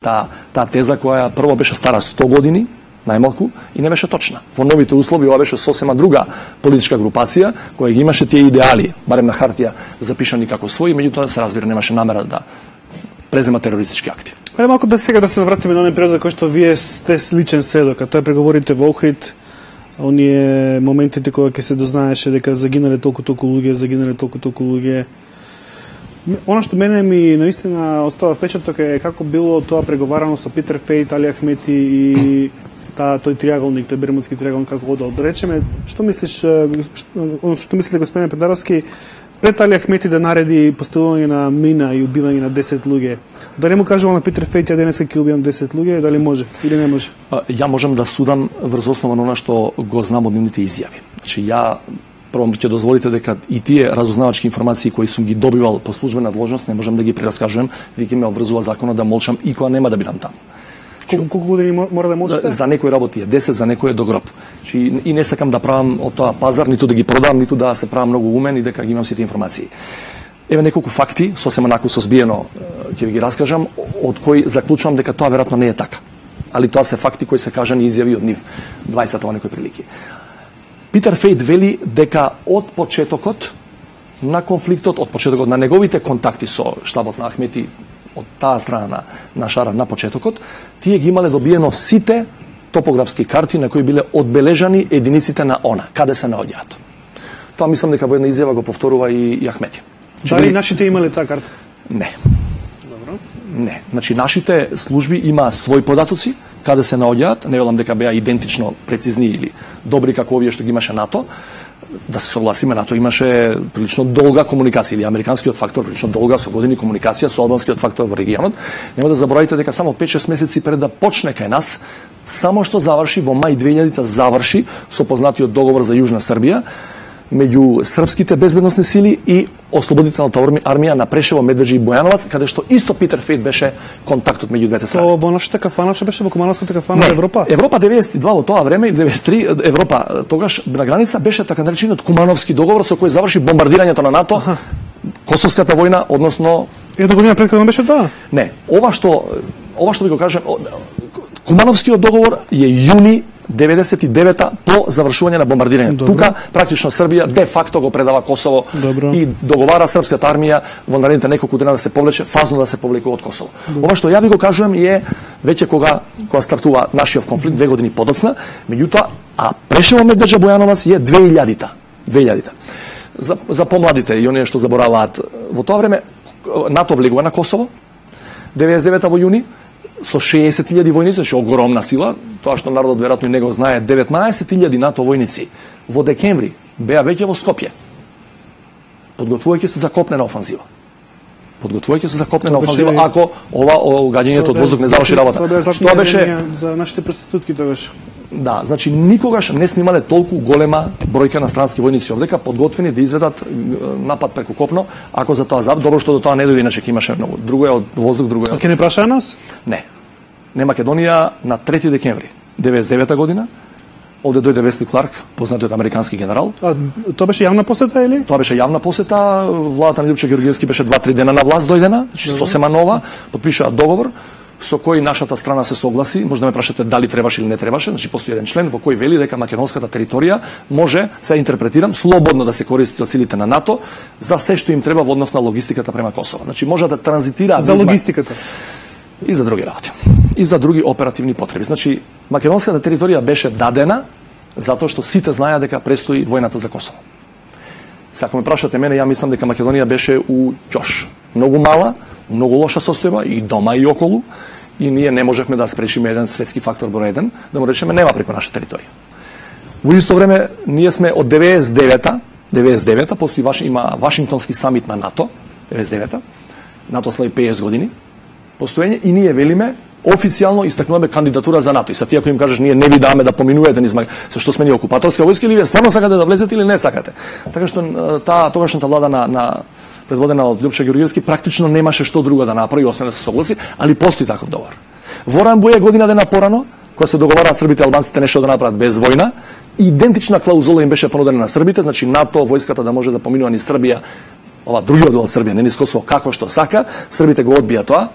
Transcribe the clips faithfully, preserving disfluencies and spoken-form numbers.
Таа та теза која прво беше стара сто години, најмалку, и не беше точна. Во новите услови ова беше сосема друга политичка групација која ги имаше тие идеали, барем на хартија, запишани како своји, меѓутоа се разбира немаше намера да презема терористички акти. Ајде малку да сега да се вратиме на оној период кој што вие сте личен сведок, а тоа е преговорите во Охрид, оние моментите кога ќе се дознаеше дека загинале толку толку луѓе, загинале толку толку луѓе. Она што мене ми наистина остава впечаток е како било тоа преговарано со Питер Фейт, Али Ахмети и та тој триаголник, тој Бермудски триаголник како одел. Да речеме, што мислиш, што, што мислите господин Педаровски, пред Али Ахмети да нареди поставување на мина и убивање на десет луѓе, дали му кажува на Питер Фейт ја денеска ќе убијам десет луѓе, дали може или не може? Ја можам да судам врз основа на она што го знам од нивните изјави. Значи ја прво ќе дозволите дека и тие разузнавачки информации кои сум ги добивал по службена дложност не можам да ги прераскажувам, веќе ме обврзува законот да молчам и кога нема да бидам таму. Колку, колку години мора да молчите? За некои работи е десет, за некои е до гроб. Чи и не сакам да правам од тоа пазар, ниту да ги продам, ниту да се правам многу умен и дека ги имам сите информации. Еве неколку факти, сосема наку созбиено ќе ви ги раскажам, од кои заклучувам дека тоа веројатно не е така. Али тоа се факти кои се кажани изјави од нив дваесет во некои прилики. Питер Фейт вели дека од почетокот на конфликтот, од почетокот на неговите контакти со штабот на Ахмети од таа страна на, на Шара на почетокот, тие ги имале добиено сите топографски карти на кои биле одбележани единиците на она, каде се наоѓаат. Тоа мислам дека во една изјава го повторува и, и Ахмети. Дали нашите имале таа карта? Не. Добро. Не. Значи, нашите служби има своји податоци, каде се наоѓаат, не велам дека беа идентично прецизни или добри како овие што ги имаше НАТО. Да се согласиме, НАТО имаше прилично долга комуникација, или американскиот фактор прилично долга со години комуникација со албанскиот фактор во регионот. Нема да заборавите дека само пет-шест месеци пред да почне кај нас, само што заврши во мај две илјадите заврши со познатиот договор за Јужна Србија меѓу српските безбедносни сили и ослободителната армија на Прешево, Медведжи и Бојановац, каде што исто Питер Фейт беше контактот меѓу двете страни. Тоа во нашата кафана што беше во Кумановската кафана не, Европа? Европа деветдесет и два во тоа време, деветдесет и три Европа тогаш на граница беше така наречениот Кумановски договор со кој заврши бомбардирањето на НАТО, Аха. Косовската војна, односно Една година пред кога беше тоа? Не, ова што ова што ви го кажам, Кумановскиот договор е јуни деветдесет и девета по завршување на бомбардирањето. Добро. Тука практично Србија де факто го предава Косово Добро. И договара српската армија во наредните неколку дена да се повлече, фазно да се повлекува од Косово. Добро. Ова што ја ви го кажувам е веќе кога кога стартува нашиот конфликт две години подоцна, меѓутоа а Прешево, Медведжа, Бојановац е две илјадите. две илјадите. За за помладите и оние што забораваат, во тоа време НАТО влегува на Косово деветдесет и девета во јуни со шеесет илјади војници, значи огромна сила, тоа што народот веројатно и не го знае, деветнаесет илјади НАТО војници во декември беа веќе во Скопје. Подготвувајќи се за копнена офанзива. Подготвувајќи се за копнена офанзива ако ова гаѓањето од воздух не заврши работа. Што беше за нашите проститутки тогаш? Да, значи никогаш не снимале толку голема бројка на странски војници овдека подготвени да изведат напад преку копно, ако за тоа заб, добро што до тоа не дојде, иначе ќе имаше многу. Друго е од воздух, друго е. А ќе не прашаа нас? Не. Не, Македонија на трети декември деветдесет и девета година овде дојде Весли Кларк, познатиот американски генерал. А тоа беше јавна посета или? Тоа беше јавна посета, владата на Љупчо Ѓорѓевски беше два-три дена на власт дојдена, значи сосема нова, потпишаа договор со кој нашата страна се согласи. Може да ме прашате дали требаше или не требаше, значи постои еден член во кој вели дека македонската територија може, се интерпретирам, слободно да се користи од силите на НАТО за се што им треба во однос на логистиката према Косово. Значи може да транзитира за логистиката и за други работи, и за други оперативни потреби. Значи македонската територија беше дадена затоа што сите знаеа дека престои војната за Косово. Се ако ме прашате мене, ја мислам дека Македонија беше у ќош, многу мала, многу лоша состојба и дома и околу, и ние не можевме да спрешиме еден светски фактор број еден, да му речеме нема преку наша територија. Во исто време ние сме од деветдесет и девета, деветдесет и девета постои ваш има Вашингтонски самит на НАТО, деветдесет и девета. НАТО слави пеесет години постоење и ние велиме официјално истакнуваме кандидатура за НАТО. И са ти ако им кажеш ние не ви даваме да поминувате низ со што сме ние окупаторска војска или вие стварно сакате да влезете или не сакате. Така што таа тогашната влада на на предводена од Љупчо Ѓорѓевски практично немаше што друго да направи освен да се согласи, али постои таков договор. Во Рамбује година дена порано, кога се договараат србите и албанците нешто да направат без војна, идентична клаузула им беше понудена на србите, значи НАТО, војската да може да поминува низ Србија, ова другиот дел од Србија, не низ Косово, како што сака, србите го одбија тоа.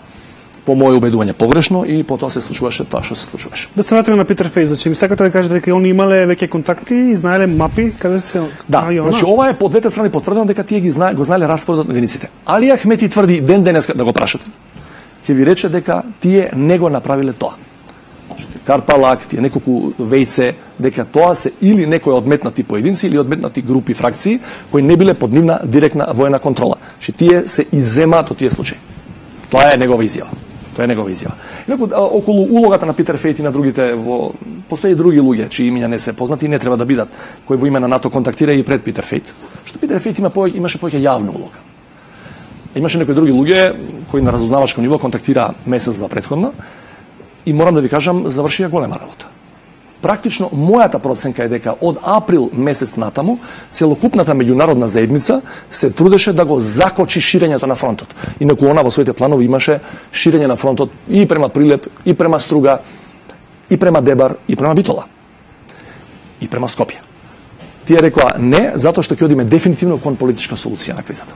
по моје убедување погрешно и потоа се случуваше тоа што се случуваше. Да се вратиме на Питер Фејс, значи ми сакате да кажете дека они имале веќе контакти и знаеле мапи каде се. Да, значи ова е по двете страни потврдено дека тие ги знае, го знаеле распоредот на единиците. Али Ахмети тврди ден денеска да го прашате. Ќе ви рече дека тие не го направиле тоа. Карпалак, тие неколку вејце, дека тоа се или некои одметнати поединци или одметнати групи, фракции, кои не биле под нивна директна воена контрола. Че тие се изземаат од тие случаи. Тоа е негова изјава. Тоа е негова изјава. Инаку, околу улогата на Питер Фејт и на другите, во... постои други луѓе, чии имиња не се познати и не треба да бидат, кои во име на НАТО контактира и пред Питер Фејт. Што Питер Фејт има повеќе, имаше повеќе јавна улога. Имаше некои други луѓе кои на разузнавачко ниво контактира месец-два претходно, и морам да ви кажам, завршија голема работа. Практично, мојата проценка е дека од април месец натаму, целокупната меѓународна заедница се трудеше да го закочи ширењето на фронтот. Инаку она во своите планови имаше ширење на фронтот и према Прилеп, и према Струга, и према Дебар, и према Битола, и према Скопје. Тие рекоа не, затоа што ќе одиме дефинитивно кон политичка солуција на кризата.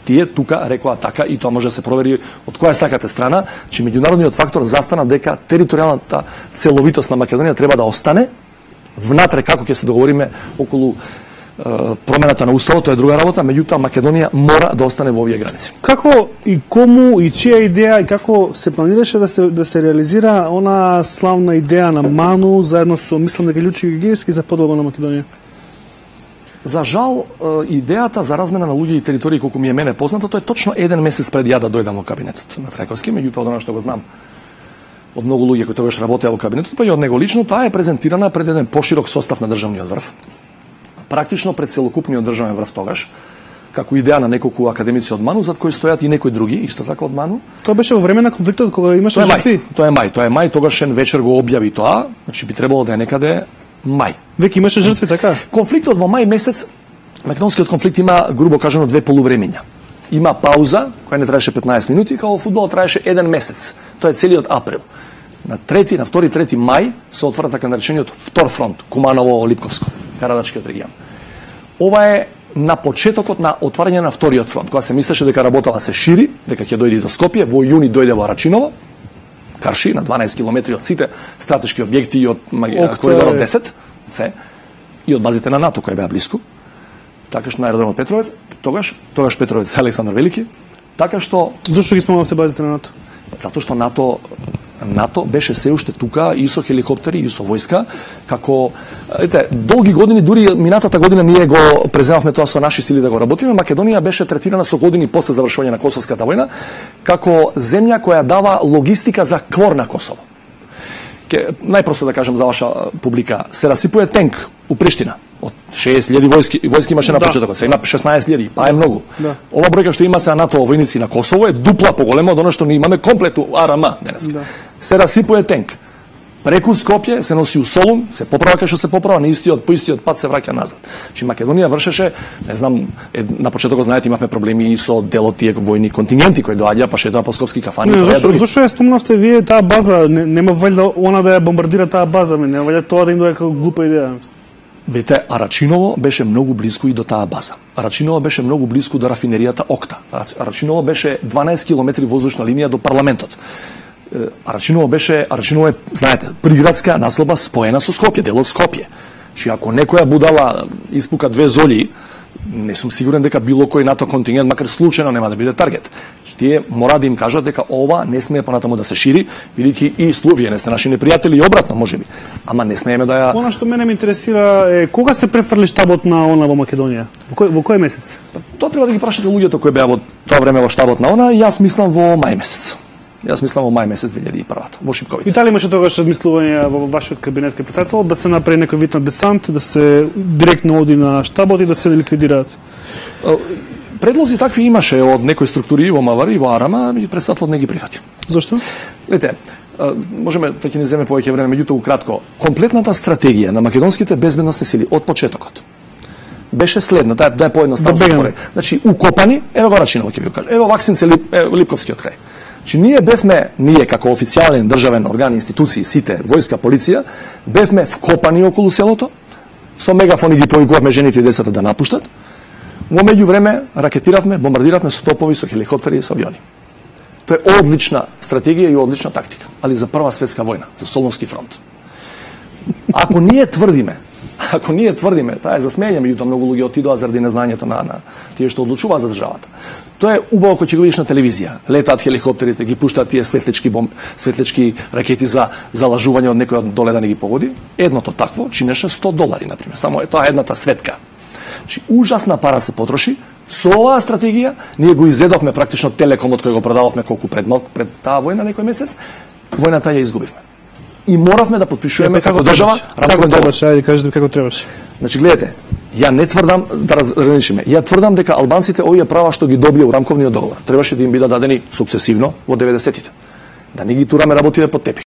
Тие тука рекоа така и тоа може да се провери од која сакате страна, че меѓународниот фактор застана дека територијалната целовитост на Македонија треба да остане внатре, како ќе се договориме околу е, промената на уставот, тоа е друга работа, меѓутоа Македонија мора да остане во овие граници. Како и кому и чија идеја и како се планираше да се да се реализира она славна идеја на Ману заедно со мислам дека Ључи Георгиевски за поделба на Македонија? За жал, идејата за размена на луѓе и територии, колку ми е мене познато, тоа е точно еден месец пред ја да дојдам во кабинетот на Трајковски, меѓутоа од она што го знам од многу луѓе кои тогаш работеа во кабинетот, па и од него лично, таа е презентирана пред еден поширок состав на државниот врв. Практично пред целокупниот државен врв тогаш, како идеја на неколку академици од Ману, зад кои стојат и некои други, исто така од Ману. Тоа беше во време на конфликтот кога имаше жртви. Тоа е мај, тоа е мај, тогашен вечер го објави тоа, значи би требало да е некаде мај. Веќе имаше жртви, така? Конфликтот во мај месец, македонскиот конфликт има, грубо кажано, две полувремења. Има пауза, која не траеше петнаесет минути, као во фудбалот траеше еден месец. Тоа е целиот април. На трети, на втори, трети мај се отвора така наречениот втор фронт, Куманово-Липковско, Карадачкиот регион. Ова е на почетокот на отварање на вториот фронт, кога се мислеше дека работава се шири, дека ќе дојде до Скопје, во јуни дојде во Рачиново, Карши, на дванаесет километри од сите стратешки објекти и од коридорот десет, се, и од базите на НАТО кои беа блиску. Така што на аеродромот Петровец, тогаш, тогаш Петровец Александар Велики, така што... Зошто ги спомнавте базите на НАТО? Затоа што НАТО НАТО беше се уште тука и со хеликоптери и со војска, како ете, долги години, дури минатата година ние го преземавме тоа со наши сили да го работиме. Македонија беше третирана со години после завршување на Косовската војна како земја која дава логистика за квор на Косово. Ке, најпросто да кажам за ваша публика, се расипува тенк у Приштина. Од шеесет илјади војски, војски имаше на почетокот, се има шеснаесет илјади, па е многу. Да. Ова бројка што има се на НАТО војници на Косово е дупла поголема од она што ние имаме комплету АРМ денес. Да. Се расипува тенк. Преку Скопје се носи у Солун, се поправа кај што се поправа, на истиот по истиот пат се враќа назад. Чи Македонија вршеше, не знам, е, на почетокот знаете имавме проблеми и со делот тие војни контингенти кои доаѓа па шетаа по скопски кафани. Не, зашо, зашо ја спомнавте вие таа база, не, нема вајда она да ја бомбардира таа база, не вајда тоа да им доаѓа како глупа идеја. Видите, Арачиново беше многу близко и до таа база. Арачиново беше многу близко до рафинеријата Окта. Арачиново беше дванаесет километри воздушна линија до парламентот. Арачиново беше, Арачиново е, знаете, приградска населба споена со Скопје, дел од Скопје. Чи ако некоја будала испука две золи, не сум сигурен дека било кој НАТО контингент, макар случајно, нема да биде таргет. Тие мора да им кажат дека ова не смее понатаму да се шири, бидејќи и Словија не сте наши непријатели и обратно можеби. Ама не смееме да ја... Она што мене ме интересира е кога се префрли штабот на она во Македонија? Во кој, во кој месец? Тоа треба да ги прашате луѓето кои беа во тоа време во штабот на она, и јас мислам во мај месец. Јас мислам во мај месец две илјади и прва во Шипковица. И дали имаше тогаш размислување во вашиот кабинет кај председател да се направи некој вид на десант, да се директно оди на штабот и да се ликвидираат? Предлози такви имаше од некои структури во МВР и во АРМ, и председателот не ги прифати. Зошто? Гледате, можеме да ќе ни земе повеќе време, меѓутоа кратко. Комплетната стратегија на македонските безбедносни сили од почетокот беше следна, да, да е поедноставно споре. Значи, укопани, ево го Рачиново ќе ви го кажам. Ево Ваксинце Лип, Липковскиот крај. Значи, ние бевме, ние како официјален државен орган, институции, сите, војска, полиција, бевме вкопани околу селото, со мегафони ги повикувавме жените и децата да напуштат. Во меѓувреме ракетиравме, бомбардиравме со топови, со хеликоптери и со авиони. Тоа е одлична стратегија и одлична тактика, али за прва светска војна, за Солунски фронт. Ако ние тврдиме, ако ние тврдиме, таа е за смење, меѓутоа многу луѓе отидоа заради незнањето на на тие што одлучуваат за државата. Тоа е убаво кога ќе го видиш на телевизија. Летаат хеликоптерите, ги пуштаат тие светлички бом, светлички ракети за залажување од некој од доле да не ги погоди. Едното такво чинеше сто долари на пример. Само е тоа едната светка. Значи ужасна пара се потроши. Со оваа стратегија ние го изедовме практично телекомот кој го продававме колку пред малку пред таа војна некој месец. Војната ја изгубивме. И моравме да потпишуваме како држава рамковен договор. Ајде кажете како требаше. Значи гледате, ја не тврдам да разграничиме. Ја тврдам дека албанците овие права што ги добија у рамковниот договор требаше да им бидат дадени сукцесивно во деветдесетите. Да не ги тураме работите под тепих.